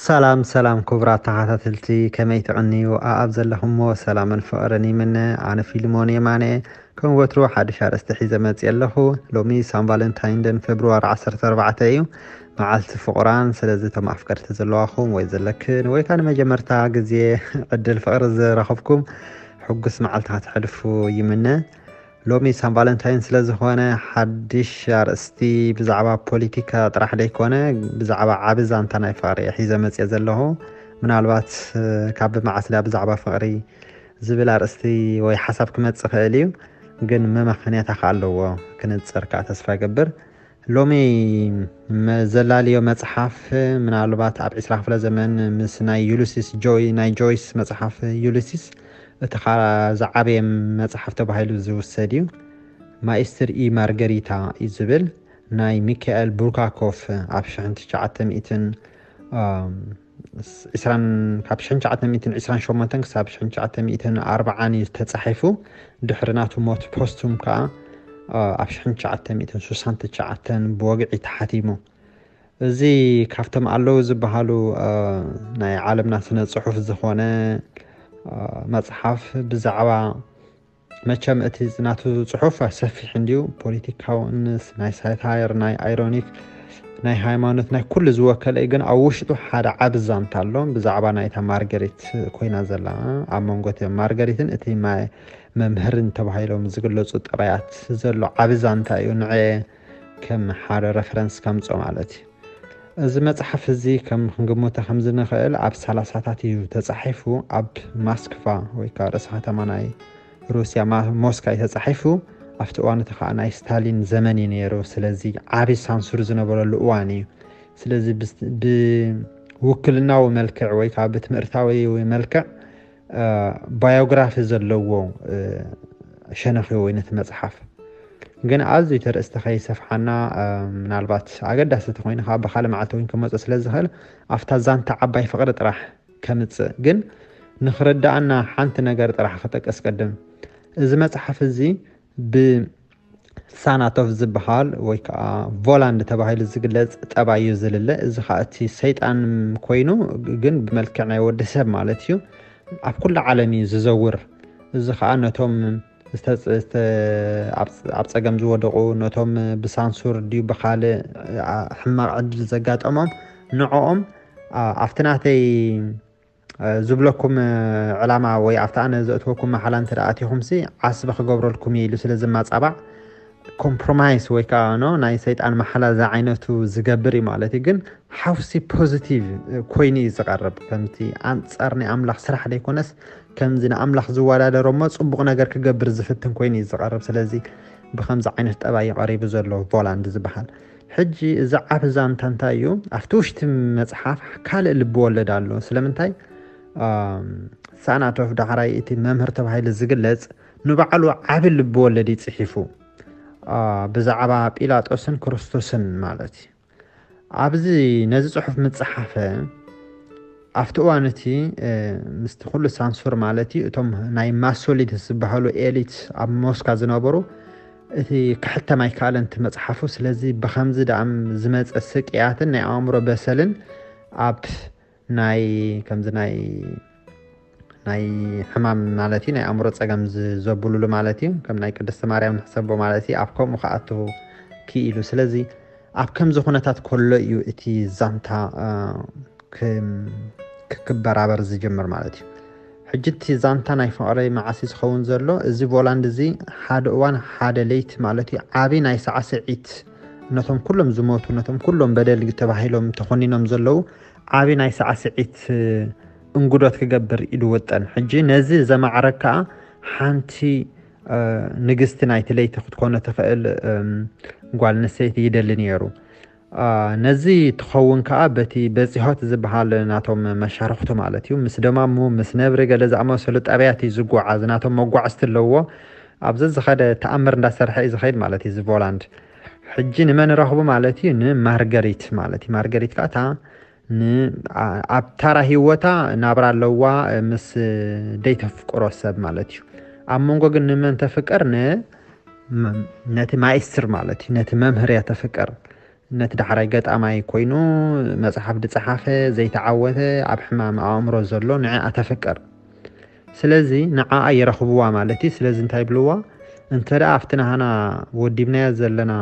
ሰላም ሰላም ክቡራት ተኸታተልቲ፣ ከመይ ትቕንዩ? ኣኣብ ዘለኹሞ ሰላምን ፍቕርን ይምነ። ኣነ ፊልሞን የማነ ከም ወትሩ ሓድሽ ኣርእስቲ ሒዘ መፅእ ኣለኹ። ሎሚ ሳን ቫለንታይን ደን ፌብርዋሪ ዓሰርተ ኣርባዕተ እዩ፣ መዓልቲ ፍቑራን። ስለዚ እቶም ኣፍቀርቲ ዘለዋኹም ወይ ዘለክን ወይ ከዓ ንመጀመርታ ግዜ ዕድል ፍቕሪ ዝረኸብኩም ሕጉስ መዓልቲ ከተሕልፉ ይምነ። ሎሚ ሳን ቫለንታይን ስለ ዝኾነ ሓድሽ ኣርእስቲ ብዛዕባ ፖለቲካ ጥራሕ ደይኮነ ብዛዕባ ዓቢ ዛንታ ናይ ፍቕሪ እየ ሒዘ መፅየ ዘለኹ። ምናልባት ካብ ብመዓስ ድኣ ብዛዕባ ፍቕሪ ዝብል ኣርእስቲ ወይ ሓሳብ ክመጽእ ይኽእል እዩ፣ ግን መመኸንያታ ከኣ ኣለዎ። ክንጽር ከኣ ተስፋ ይገብር። ሎሚ መዘላልዮ መጽሓፍ ምናልባት ኣብ ዕስራ ክፍለ ዘመን ምስ ናይ ዩሊሲስ ጆይ ናይ ጆይስ መጽሓፍ ዩሊሲስ እቲ ዝዓበየ መጽሓፍ ተባሂሉ ዝውሰድ እዩ። ማኢስትር ኢ ማርገሪታ እዩ ዝብል ናይ ሚካኤል ቡርካኮፍ ኣብ ሽሕን ትሽዓተ ሚእትን ዕስራን ካብ ሽሕን ትሽዓተ ሚእትን ዕስራን ሸሞንተን ክሳብ ሽሕን ትሽዓተ ሚእትን ኣርባዓን እዩ ተጻሒፉ። ድሕሪ ናቱ ሞት ፖስቱም ከኣ ኣብ ሽሕን ትሽዓተ ሚእትን ስሳን ትሽዓተን ብወግዒ ተሓቲሙ። እዚ ካብቶም ኣለዉ ዝበሃሉ ናይ ዓለምና ስነ ጽሑፍ ዝኾነ መጽሓፍ ብዛዕባ መቸም እቲ ናቱ ጽሑፍ ሰፊሕ እንድዩ። ፖለቲካዊ፣ ናይ ሳታየር፣ ናይ ኣይሮኒክ፣ ናይ ሃይማኖት፣ ናይ ኩሉ ዝወከለ እዩ። ግን ኣብ ውሽጡ ሓደ ዓቢ ዛንታ ኣሎ ብዛዕባ ናይታ ማርገሪት ኮይና ዘላ ኣብ መንጎ እቲ ማርገሪትን እቲ መምህርን ተባሂሎም ዝግለጹ ጠባያት ዘሎ ዓቢ ዛንታ እዩ። ንዐ ከም ሓደ ረፈረንስ ከምጾ ማለት እዩ። እዚ መጽሓፍ እዚ ከም ክንግምቶ ከም ዝንኽእል ኣብ ሰላሳታት እዩ ተጻሒፉ። ኣብ ማስክቫ ወይ ከዓ ርእሰ ከተማ ናይ ሩስያ ማ- ሞስካ እዩ ተጻሒፉ። ኣብቲ እዋን እቲ ከዓ ናይ ስታሊን ዘመን እዩ ነይሩ። ስለዚ ዓቢ ሳንሱር ዝነበረሉ እዋን እዩ። ስለዚ ብስ- ብውክልናዊ መልክዕ ወይ ከዓ ብትምህርታዊ መልክዕ ባዮግራፊ ዘለዎ ሸነኽ ወይ ነቲ መጽሓፍ ግን ኣዝዩ ተርእስቲ ከይሰፍሓና ምናልባት ኣገዳሲ ተኮይኑ ከዓ ብካልእ መዓልቲ እውን ክመፁ ስለ ዝኽእል ኣብታ ዛንታ ዓባይ ፍቕሪ ጥራሕ ከምፅእ ግን ንክርዳኣና ሓንቲ ነገር ጥራሕ ክጠቅስ ቅድም። እዚ መፅሓፍ እዚ ብ ሳናቶፍ ዝበሃል ወይ ከዓ ቮላንድ ተባሂሉ ዝግለፅ ጠባይ እዩ ዝልለ። እዚ ከዓ እቲ ሰይጣን ኮይኑ ግን ብመልክዕ ናይ ወዲ ሰብ ማለት እዩ ኣብ ኩሉ ዓለም እዩ ዝዘውር። እዚ ከዓ ነቶም ዝተፅ- ዝተ- ኣብ- ኣብ ፀገም ዝወደቁ፣ ነቶም ብሳንሱር ድዩ ብካልእ ኣ- ሕማቅ ዕድል ዘጋጠሞም ንዕኦም ኣ- ኣብቲ ናተይ ዝብለኩም ዕላማ ወይ ኣብቲ ኣነ ዘእትወኩም መሓላ እንተ ኣቲኹምሲ ዓስቢ ክገብረልኩም እየ ኢሉ ስለ ዝማፃባዕ ኮምፕሮማይስ ወይ ከዓ ኖ ናይ ሰይጣን መሓላ ዝዓይነቱ ዝገብር እዩ ማለት እዩ። ግን ሓውሲ ፖዚቲቭ ኮይኑ እዩ ዝቐርብ። ከምቲ ኣንፃር ናይ ኣምላኽ ስራሕ ዘይኮነስ ከምዚ ንኣምላኽ ዝወዳደሮ እሞ ፅቡቕ ነገር ክገብር ዝፍትን ኮይኑ እዩ ዝቐርብ። ስለዚ ብከምዚ ዓይነት ጠባይ እዩ ቀሪቡ ዘሎ ቮላንድ ዝበሃል። ሕጂ እዚ ዓቢ ዛንታ እንታይ እዩ? ኣብቲ ውሽጢ መጽሓፍ ካልእ ልቢ ወለድ ኣሎ። ስለምንታይ ሳናቶፍ ዳሕራይ እቲ መምህር ተባሂሉ ዝግለጽ ንባዕሉ ዓቢ ልቢ ወለድ እዩ ጽሒፉ ብዛዕባ ጲላጦስን ክርስቶስን ማለት እዩ። ኣብዚ ነዚ ጽሑፍ ምጽሓፈ ኣብቲ እዋን እቲ ምስቲ ኩሉ ሳንሱር ማለት እዩ እቶም ናይ ማሶሊት ዝበሃሉ ኤሊት ኣብ ሞስካ ዝነበሩ እቲ ክሕተም ኣይከኣለን እቲ መጽሓፉ። ስለዚ ብከምዚ ደኣ ዝመጸ ስቅያትን ናይ ኣእምሮ በሰልን ኣብ ናይ ከምዚ ናይ ናይ ሕማም ማለት እዩ ናይ ኣእምሮ ጸገም ዘብሉሉ ማለት እዩ ከም ናይ ቅድስቲ ማርያም ንሕሰቦ ማለት እዩ ኣብ ከምኡ ክኣቱ ክኢሉ። ስለዚ ኣብ ከምዚ ኩነታት ከሎ እዩ እቲ ዛንታ ክበራበር ዝጅምር ማለት እዩ። ሕጂ እቲ ዛንታ ናይ ፍቕሪ መዓስ እዩ ዝኸውን ዘሎ? እዚ ቮላንድ እዚ ሓደ እዋን ሓደ ለይቲ ማለት እዩ ዓብዪ ናይ ሳዕስዒት ነቶም ኩሎም ዝሞቱ ነቶም ኩሎም በደል ተባሂሎም ተኾኒኖም ዘለዉ ዓብዪ ናይ ሳዕስዒት እንጉዶት ክገብር ኢሉ ወጠን። ሕጂ ነዚ ዘማዕረግ ከዓ ሓንቲ ንግስቲ ናይቲ ለይቲ ክትኮነ ትኽእል ጓል ኣንስተይቲ ይደሊ ነይሩ። ነዚ ትኸውን ከዓ በቲ በጺሖት ዝበሃል ናቶም መሻርኽቱ ማለት እዩ ምስ ደማሙ ምስ ነብሪ ገለ ዝኣመሰሉ ጠባያት እዩ ዝጓዓዝ። ናቶም መጓዕዝቲ ኣለዎ። ኣብ ዘዝኸደ ተኣምር እንዳሰርሐ እዩ ዝኸይድ ማለት እዩ እዚ ቮላንድ። ሕጂ ንመን ረኽቡ ማለት እዩ? ንማርገሪት ማለት እዩ። ማርገሪት ከዓ እታ ን-፣ ኣ-፣ ኣብ ታራ ህይወታ ናብራ ኣለዋ፣ እ፣ ምስ ደይተፍቅሮ ሰብ ማለት እዩ። ኣብ መንጎ ግን ንመን ተፍቅር? ን-፣ ም-፣ ነቲ ማይስትር ማለት እዩ፣ ነቲ መምህር እያ ተፍቅር። ነቲ ዳሕራይ ገጣማይ ኮይኑ መጽሓፍ ዝጸሓፈ፣ ዘይተዓወተ፣ ኣብ ሕማም ኣእምሮ ዘሎ ንዕኣ ተፍቅር። ስለዚ ንዓኣ ይረኽብዋ ማለት እዩ። ስለዚ እንታይ ይብልዋ? እንተ ደኣ ኣብቲ ናህና ወዲብናዮ ዘለና፣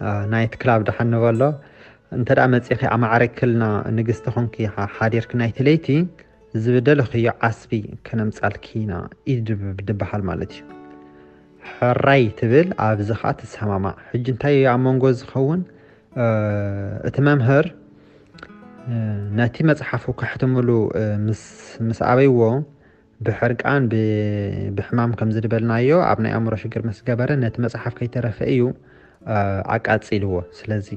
አ፣ ናይት ክላብ ደሓን ንበሎ፣ እንተ ደኣ መጺኺ ኣማዕረክልና ንግስቲ ኾንኪ ሓ-፣ ሓዲርኪ ናይቲ ለይቲ ዝብደለኽዮ ዓስቢ ከነምጻልኪ ኢና እዩ ድብ-፣ ድበሃል ማለት እዩ። ሕራይ ትብል፣ ኣብዚ ኸኣ ትሰማማዕ። ሕጂ እንታይ እዩ ኣብ መንጎ ዝኸውን? እ፣ እቲ መምህር፣ እ፣ ነቲ መጽሓፉ ከሕትምሉ፣ እ፣ ምስ፣ ምስ ኣበይዎ፣ ብሕርቃን፣ ብ-፣ ብሕማም ከም ዝድበልናዮ፣ ኣብ ናይ ኣእምሮ ሽግር ምስ ገበረ፣ ነቲ መጽሓፍ ከይተረፈ እዩ፣ እ፣ ኣቃጺልዎ። ስለዚ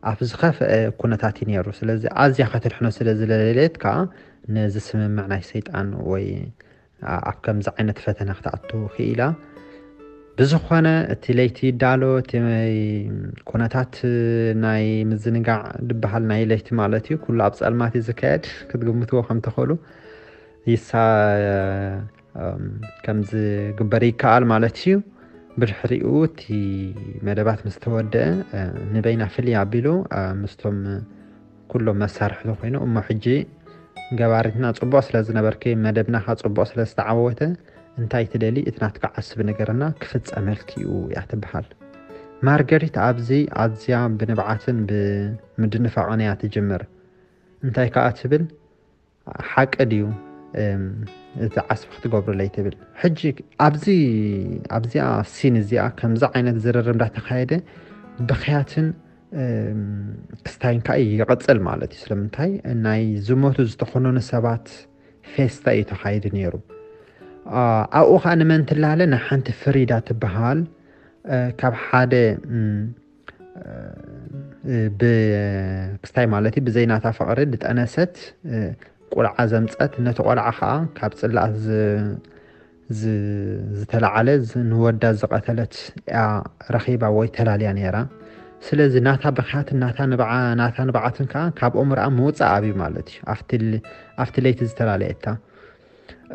ኣብ ዝኸፍአ ኩነታት እዩ ነይሩ። ስለዚ ኣዝያ ከተድሕኖ ስለ ዝደለየት ከኣ ነዚ ስምምዕ ናይ ሰይጣን ወይ ኣ-፣ ኣብ ከምዚ ዓይነት ፈተና ክትኣቱ ክኢላ። ብዝኾነ እቲ ለይቲ ይዳሎ፣ እቲ ኩነታት ናይ ምዝንጋዕ ዝበሃል ናይ ለይቲ ማለት እዩ፣ ኩሉ ኣብ ጸልማት እዩ ዝካየድ፣ ክትግምትዎ ከም ትኽእሉ። ይሳ-፣ እም፣ ከም ዝግበር ይከኣል ማለት እዩ። ብድሕሪኡ እቲ መደባት ምስ ተወደአ፣ እ፣ ንበይና ፍልይ ኣቢሉ፣ እ፣ ምስቶም ኩሎም መሳርሕቲ ኮይኑ፣ እሞ ሕጂ ገባሪትና ጽቡቕ ስለ ዝነበርኪ፣ መደብና ኸኣ ጽቡቕ ስለ ዝተዓወተ፣ እንታይ ትደሊ? እቲ ናትካ ዓስቢ ንገረና፣ ክፍጸመልኪ እዩ እያ ትበሃል። ማርገሪት ኣብዚ ኣዝያ ብንብዓትን ብምድንፋቕን እያ ትጅምር። እንታይ ከኣ ትብል? ሓቂ ድዩ፣ እም፣ እቲ ዓስቢ ክትገብሩለይ ትብል? ሕጂ ኣብዚ፣ ኣብዚኣ ሲን እዚኣ ከምዚ ዓይነት ዝርርብ እንዳተኻየደ፣ ብኽያትን፣ እም፣ ክስታይን ከኣ ይቕጽል ማለት እዩ። ስለምንታይ? ናይ ዝሞቱ ዝተኾነኑ ሰባት ፌስታ እዩ ተኻይዱ ነይሩ። ኣ-፣ ኣብኡ ኸኣ ንመን ትላለ? ንሓንቲ ፍሪዳ ትበሃል፣ እ፣ ካብ ሓደ፣ እም፣ እ፣ ብ-፣ ክስታይ ማለት እዩ፣ ብዘይ ናታ ፍቕሪ ዝጠነሰት፣ እ፣ ቆልዓ ዘምጸት፣ ነቲ ቆልዓ ኸኣ ካብ ጽላኣት ዝ-፣ ዝ-፣ ዝተላዓለ ዝ-፣ ንወዳ ዝቐተለት እያ ረኺባ ወይ ተላልያ ነይራ። ስለዚ ናታ ብኽያትን ናታ ንብዓ-፣ ናታ ንብዓትን ከኣ ካብ ኣእምሮኣ ምውጻእ ኣብዩ ማለት እዩ። ኣብቲ ል-፣ ኣብቲ ለይቲ ዝተላለየታ።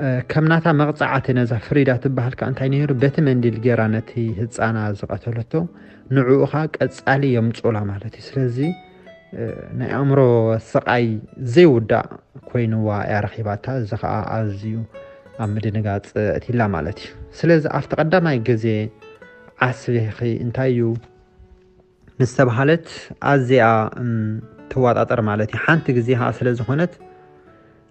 እ፣ ከም ናታ መቕጻዕቲ ነዛ ፍሪዳ ትበሃል ከኣ እንታይ ነይሩ? በቲ መንዲል ጌራ ነቲ ህጻና ዝቐተለቶ ንዕኡ ኸኣ ቀጻሊ የምጹላ ማለት እዩ። ስለዚ፣ እ፣ ናይ ኣእምሮ ስቓይ ዘይውዳእ ኮይንዋ እያ ረኺባታ። እዚ ኸኣ ኣዝዩ ኣብ ምድንጋጽ ኣእትይላ ማለት እዩ። ስለዚ ኣብቲ ቀዳማይ ግዜ ዓስቢኺ እንታይ እዩ ምስ ተባሃለት ኣዝያ፣ እም፣ ትወጣጠር ማለት እዩ። ሓንቲ ግዜ ኸኣ ስለ ዝኾነት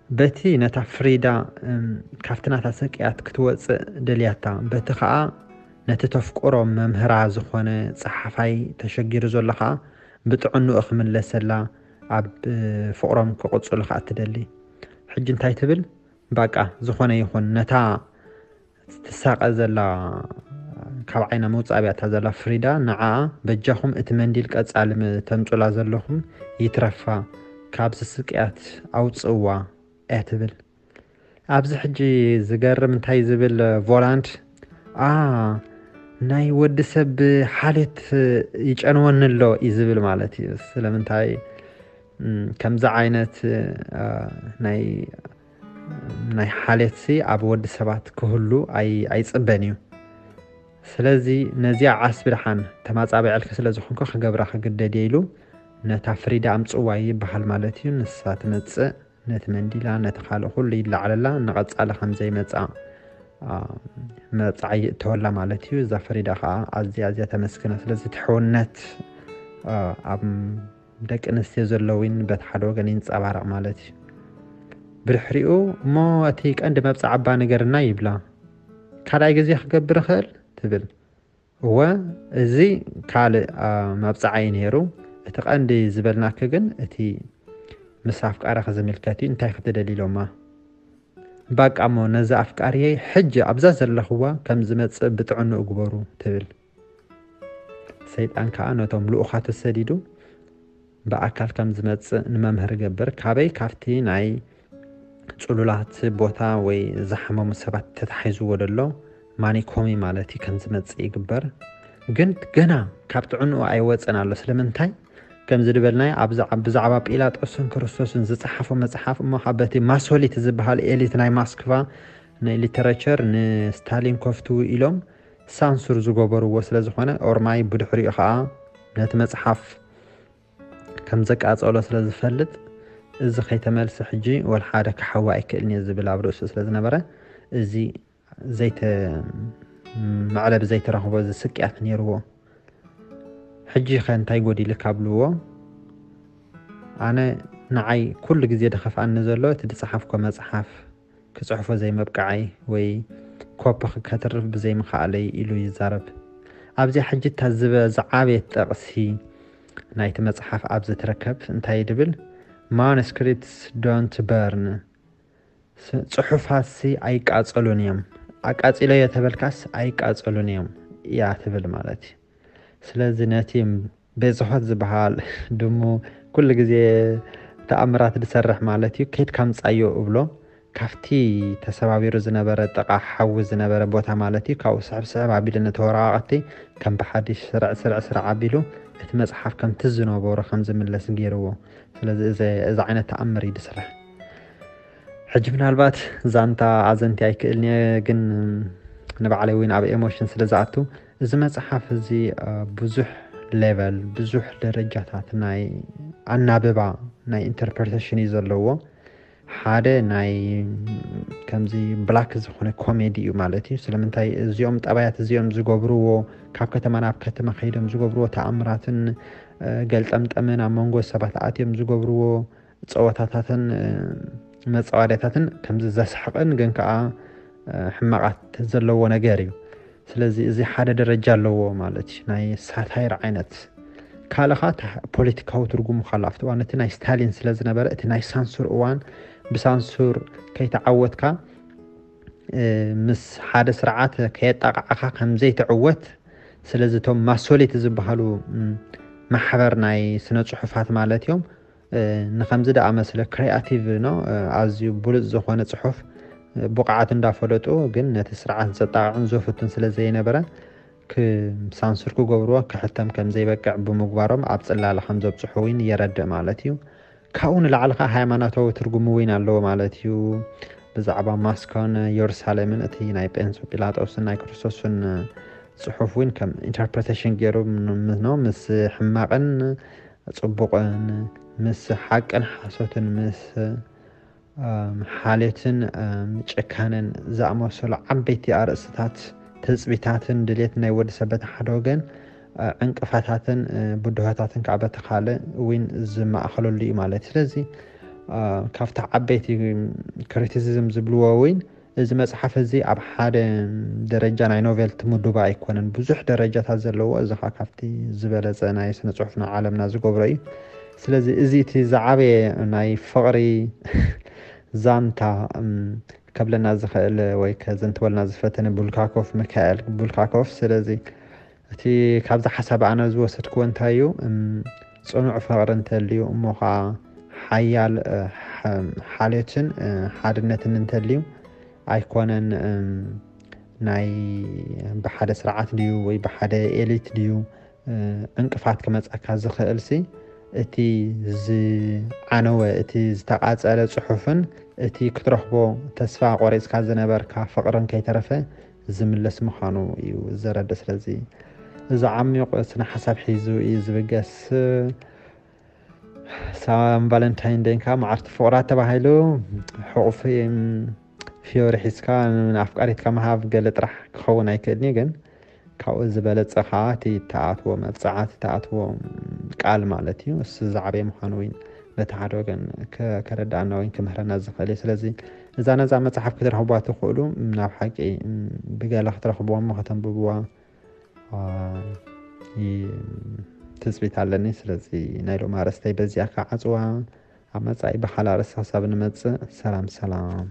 በቲ ነታ ፍሪዳ፣ እም፣ ካብቲ ናታ ስቅያት ክትወጽእ ደልያታ፣ በቲ ኸኣ ነቲ ተፍቅሮ መምህራ ዝኾነ ጸሓፋይ ተሸጊሩ ዘሎ ኸኣ ብጥዕንኡ ክምለሰላ ኣብ፣ እ፣ ፍቕሮም ክቕጽሉ ኸኣ ትደሊ። ሕጂ እንታይ ትብል? ባቃ ዝኾነ ይኹን ነታ ትሳቐ ዘላ፣ ካብ ዓይና መውጻእ ኣብያታ ዘላ ፍሪዳ ንዓኣ በጃኹም እቲ መንዲል ቀጻሊ ም-፣ ተምጹላ ዘለኹም ይትረፋ፣ ካብዚ ስቅያት ኣውጽእዋ እያ ትብል። ኣብዚ ሕጂ ዝገርም እንታይ ዝብል ቮላንድ፣ "ኣ፣ ናይ ወዲ ሰብ ሓልዮት ይጨንወኒ ኣሎ" እዩ ዝብል ማለት እዩ። ስለምንታይ፣ እም፣ ከምዚ ዓይነት፣ ኣ፣ ናይ፣ ናይ ሓልዮትሲ ኣብ ወዲ ሰባት ክህሉ ኣይ-፣ ኣይጽበን እዩ። ስለዚ ነዚኣ ዓስቢ ደሓን ተማጻቢዐልኪ ስለ ዝኾንኩ ክገብራ ክግደድ እየ ኢሉ ነታ ፍሪዳ ኣምጽዋ ይበሃል ማለት እዩ። ንሳ ትመጽእ፣ ነቲ መንዲላ፣ ነቲ ካልእ ኩሉ ይለዓለላ፣ ንቐጻሊ ከም ዘይመጽኣ፣ ኣ፣ መጽዓ ይእተወላ ማለት እዩ። እዛ ፍሪዳ ከኣ ኣዝያ፣ ኣዝያ ተመስግና። ስለዚ እቲ ሕውነት፣ ኣ፣ ኣብ ደቂ ኣንስትዮ ዘለዊን በቲ ሓደ ወገን ይንጸባረቕ ማለት እዩ። ብድሕሪኡ፣ "እሞ እቲ ቀንዲ መብጽዓ እባ ንገርና" ይብላ። "ካልኣይ ግዜ ክገብር እኽእል?" ትብል። "እወ፣ እዚ ካልእ፣ ኣ፣ መብጽዓ እዩ ነይሩ። እቲ ቀንዲ ዝበልናኪ ግን እቲ ምስ ኣፍቃሪኺ ዝምልከት እዩ። እንታይ ክትደሊ?" ኢሎማ። "ባቃ እሞ ነዚ ኣፍቃሪየይ ሕጂ ኣብዛ ዘለኽዋ ከም ዝመጽእ ብጥዕንኡ ግበሩ" ትብል። ሰይጣን ከኣ ነቶም ልኡኻቱ ሰዲዱ ብኣካል ከም ዝመጽእ ንመምህር ይገብር። ካበይ? ካብቲ ናይ ጽሉላት ቦታ ወይ ዝሓመሙ ሰባት ተታሒዝዎ ዘሎ ማኒኮሚ ማለት እዩ ከም ዝመጽእ ይግበር። ግን ገና ካብ ጥዕንኡ ኣይወፀን ኣሎ። ስለምንታይ? ከምዚ ዝበልናይ ብዛዕባ ጲላጦስን ክርስቶስን ዝፀሓፎ መፅሓፍ እሞ ካብ በቲ ማሶሊት ዝበሃል ኤሊት ናይ ማስክቫ ንሊተረቸር ንስታሊን ኮፍትዉ ኢሎም ሳንሱር ዝገበርዎ ስለዝኾነ ኦርማይ ብድሕሪኡ ከዓ ነቲ መፅሓፍ ከም ዘቃጸሎ ስለዝፈልጥ እዚ ከይተመልሰ ሕጂ ወላ ሓደ ክሓዊ ኣይክእልን እየ ዝብል ኣብ ርእሱ ስለዝነበረ እዚ ዘይተ መዕለብ ዘይተረኽቦ እዚ ስቅያት ነይርዎ። ሕጂ ከ እንታይ ጎዲልካ ኣብልዎ? ኣነ ንዓይ ኩሉ ግዜ ደኸፍኣኒ ዘሎ እቲ ዝጸሓፍኮ መጽሓፍ ክጽሕፎ ዘይመብቃዓይ ወይ ኮፒ ከተርፍ ብዘይምኽኣለይ ኢሉ ይዛረብ። ኣብዚኣ ሕጂ እታ ዝበ ዝዓበየት ጠቕሲ ናይቲ መጽሓፍ ኣብዚ ትርከብ እንታይ ድብል? Manuscripts don't burn፣ ጽሑፋትሲ ኣይቃጸሉን እዮም። ኣቃጺለዮ ተበልካስ ኣይቃጸሉን እዮም እያ ትብል ማለት እዩ። ስለዚ ነቲ ቤዝሆት ዝበሃል ድሙ ኩሉ ግዜ ተኣምራት ዝሰርሕ ማለት እዩ። ከይድካ ምጻዮ እብሎ። ካብቲ ተሰባቢሩ ዝነበረ ጥቓ ሓዊ ዝነበረ ቦታ ማለት እዩ። ካብኡ ስሕብ ስሕብ ኣቢሉ ነቲ ወረቓቕቲ ከም ብሓድሽ ስርዕ ስርዕ ስርዕ ኣቢሉ እቲ መጽሓፍ ከምቲ ዝነበሮ ከም ዝምለስ ገይርዎ። ስለዚ እዚ ዓይነት ተኣምር እዩ ዝስራሕ። ሕጂ ምናልባት ዛንታ ኣዘንቲ ኣይክእልን እየ፣ ግን ንባዕለይ እውን ኣብ ኤሞሽን ስለ ዝኣቱ እዚ መፅሓፍ እዚ ብዙሕ ሌቨል ብዙሕ ደረጃታት ናይ ኣናብባ ናይ ኢንተርፕሬቴሽን እዩ ዘለዎ። ሓደ ናይ ከምዚ ብላክ ዝኾነ ኮሜዲ እዩ ማለት እዩ። ስለምንታይ እዚኦም ጠባያት እዚኦም ዝገብርዎ ካብ ከተማ ናብ ከተማ ከይዶም ዝገብርዎ ተኣምራትን ገልጠምጠምን ኣብ መንጎ ሰባት ኣትዮም ዝገብርዎ ፀወታታትን መፃወድያታትን ከምዚ ዘስሕቕን ግን ከዓ ሕማቓት ዘለዎ ነገር እዩ። ስለዚ እዚ ሓደ ደረጃ ኣለዎ ማለት እዩ፣ ናይ ሳታይር ዓይነት። ካልእ ኸዓ ፖለቲካዊ ትርጉሙ ካሎ ኣብቲ እዋን እቲ ናይ ስታሊን ስለ ዝነበረ እቲ ናይ ሳንሱር እዋን ብሳንሱር ከይተዓወትካ ምስ ሓደ ስርዓት ከየጣቃዕኻ ከም ዘይትዕወት። ስለዚ እቶም ማሶሊት ዝበሃሉ ማሕበር ናይ ስነ ፅሑፋት ማለት እዮም ንከምዚ ደኣ መስለ ክሪኣቲቭ ነው ኣዝዩ ብሉፅ ዝኾነ ፅሑፍ ብቕዓት እንዳፈለጡ ግን ነቲ ስርዓት ዘጣቕዕን ዘፍቱን ስለ ዘይነበረ ሳንሱር ክገብርዎ ክሕተም ከም ዘይበቅዕ ብምግባሮም ኣብ ፅላለ ከም ዘብፅሑ እውን የረድእ ማለት እዩ። ካብኡ ንላዕሊ ከዓ ሃይማኖታዊ ትርጉሙ እውን ኣለዎ ማለት እዩ። ብዛዕባ ማስኮን የሩሳሌምን እቲ ናይ ጴንሶ ጲላጦስን ናይ ክርስቶስን ፅሑፍ እውን ከም ኢንተርፕሬቴሽን ገይሩ ምስ ሕማቕን ፅቡቕን ምስ ሓቅን ሓሶትን ምስ ሓልዮትን ጭካነን ዝኣመሰሉ ዓበይቲ ኣርእስታት ትፅቢታትን ድሌት ናይ ወዲ ሰብ በቲ ሓደ ወገን ዕንቅፋታትን ብድሆታትን ከዓ በቲ ካልእ እውን ዝማእኸለሉ እዩ ማለት እዩ። ስለዚ ካብቲ ዓበይቲ ክሪቲሲዝም ዝብልዎ እውን እዚ መፅሓፍ እዚ ኣብ ሓደ ደረጃ ናይ ኖቬልቲ ምዱባ ኣይኮነን፣ ብዙሕ ደረጃታት ዘለዎ እዚ ከዓ ካብቲ ዝበለፀ ናይ ስነ ፅሑፍ ናይ ዓለምና ዝገብሮ እዩ። ስለዚ እዚ እቲ ዝዓበየ ናይ ፍቕሪ ዛንታ ከብለና ዝኽእል ወይ ከዘንትወልና ዝፈተነ ቡልካኮፍ ሚካኤል ቡልካኮፍ። ስለዚ እቲ ካብዚ ሓሳብ ኣነ ዝወሰድክዎ እንታይ እዩ? ጽኑዕ ፍቕሪ እንተልዩ እሞ ከዓ ሓያል ሓልዮትን ሓድነትን እንተልዩ ኣይኮነን ናይ ብሓደ ስርዓት ድዩ ወይ ብሓደ ኤሊት ድዩ ዕንቅፋት ክመፀካ ዝኽእል ሲ እቲ ዝዓነወ እቲ ዝተቃፀለ ፅሑፍን እቲ ክትረኽቦ ተስፋ ቆሪፅካ ዝነበርካ ፍቕርን ከይተረፈ ዝምለስ ምዃኑ እዩ ዘረድእ። ስለዚ እዚ ዓሚቕ ስነ ሓሳብ ሒዙ እዩ ዝብገስ። ሳም ቫለንታይን ደይን ከዓ መዓልቲ ፍቕራት ተባሂሉ ሕቑፊ ፊዮሪ ሒዝካ ንኣፍቃሪትካ ምሃብ ገለ ጥራሕ ክኸውን ኣይክእልን እዩ፣ ግን ካብኡ ዝበለፀ ከዓ እቲ ተኣትዎ መብፅዓት ተኣትዎ ቃል ማለት እዩ። እሱ ዝዓበየ ምዃኑ ወይ በቲ ሓደ ወገን ከረዳእና ወይ ክምህረና ዝኽእል እዩ። ስለዚ እዛ ነዛ መፅሓፍ ክትረኽቧ ትኽእሉ ናብ ሓቂ ብገለ ክትረኽብዎም ከተንብብዋ ትፅቢት ኣለኒ። ስለዚ ናይ ሎም ኣርእስተይ በዚኣ ከዓ ዓፅዋ። ኣብ መፃኢ ብካልእ ኣርእስቲ ክሳብ ንመፅእ ሰላም ሰላም።